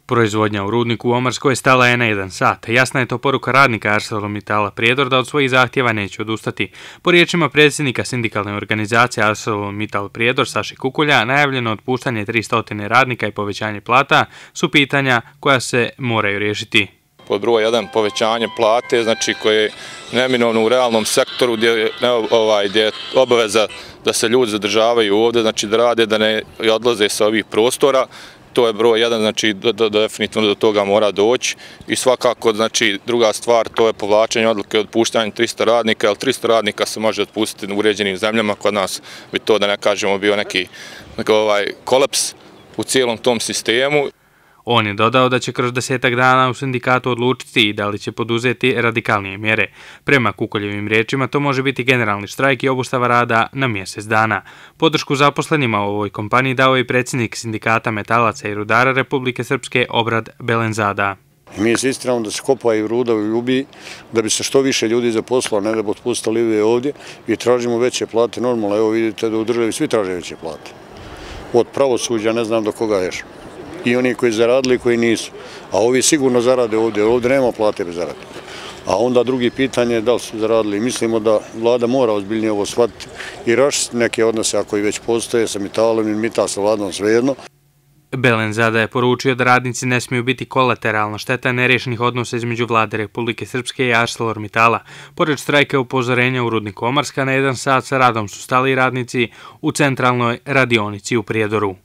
Proizvodnja u rudniku u Omarskoj stala je na 1 sat. Jasna je to poruka radnika ArcelorMittala Prijedor da od svojih zahtjeva neće odustati. Po riječima predsjednika sindikalne organizacije ArcelorMittal Prijedor Saši Kukulja, najavljeno otpuštanje 300 radnika i povećanje plata su pitanja koja se moraju riješiti. Pod broj 1 povećanje plate, znači koje je neminovno u realnom sektoru gdje je obaveza da se ljudi zadržavaju ovdje, znači da rade, da ne odlaze sa ovih prostora. To je broj 1, znači definitivno do toga mora doći i svakako, znači druga stvar, to je povlačenje odluke o otpuštanju 300 radnika, jer 300 radnika se može otpustiti u uređenim zemljama, kod nas bi to, da ne kažemo, bio neki kolaps u cijelom tom sistemu. On je dodao da će kroz 10 dana u sindikatu odlučiti da li će poduzeti radikalnije mjere. Prema Kukuljevim riječima to može biti generalni štrajk i obustava rada na mjesec dana. Podršku zaposlenima u ovoj kompaniji dao je i predsjednik sindikata metalaca i rudara Republike Srpske Obrad Belenzada. Mi insistiramo da se kopaju ruda u Ljubiji, da bi se što više ljudi zaposlilo, ne da bi otpustili ovdje i tražimo veće plate. Normalno, evo vidite da u državi svi traže veće plate. Od pravosuđa ne znam do koga još. I oni koji zaradili i koji nisu. A ovi sigurno zarade ovdje, ovdje nema plate bez zarade. A onda drugi pitanje je da li su zaradili. Mislimo da vlada mora ozbiljnije ovo shvatiti i raščistiti neke odnose ako i već postoje sa Mittalom i Mittal sa vladom, svejedno. Belenzada je poručio da radnici ne smiju biti kolateralna šteta nerješenih odnosa između vlade Republike Srpske i ArcelorMittala. Pored štrajka i upozorenja u rudniku Omarska, na 1 sat sa radom su stali radnici u centralnoj radionici u Prijedoru.